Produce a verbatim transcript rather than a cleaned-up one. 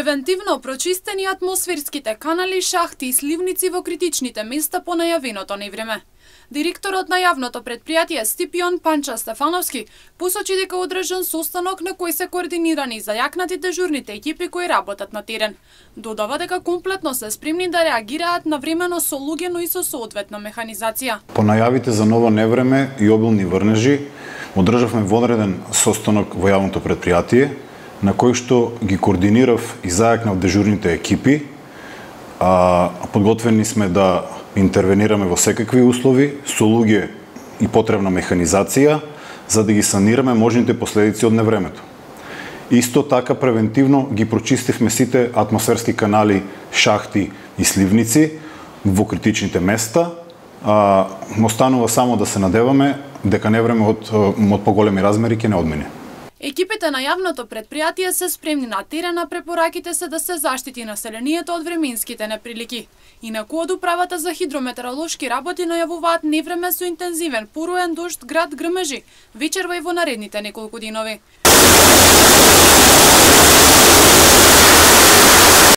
Превентивно прочистени атмосферските канали, шахти и сливници во критичните места по најавеното невреме. Директорот на јавното предпријатие Стипион Панча Стефановски посочи дека одржан состанок на кој се координирани зајакнати дежурните екипи кои работат на терен. Додава дека комплетно се спремни да реагираат навремено со луѓе, но и со соодветна механизација. По најавите за ново невреме и обилни врнежи, одржавме вонреден состанок во јавното предпријатие, на кој што ги координирав и зајакнав дежурните екипи. А, подготвени сме да интервенираме во секакви услови, со луѓе и потребна механизација, за да ги санираме можните последици од невремето. Исто така превентивно ги прочистивме сите атмосферски канали, шахти и сливници во критичните места. А, останува само да се надеваме дека невреме од, од поголеми размери ќе не одмине. Екипите на јавното предпријатие се спремни на терен, а препораките се да се заштити населението од временските неприлики. Инаку од управата за хидрометеоролошки работи најавуваат невреме со интензивен поруен дожд град грмежи, вечерва и во наредните неколку динови.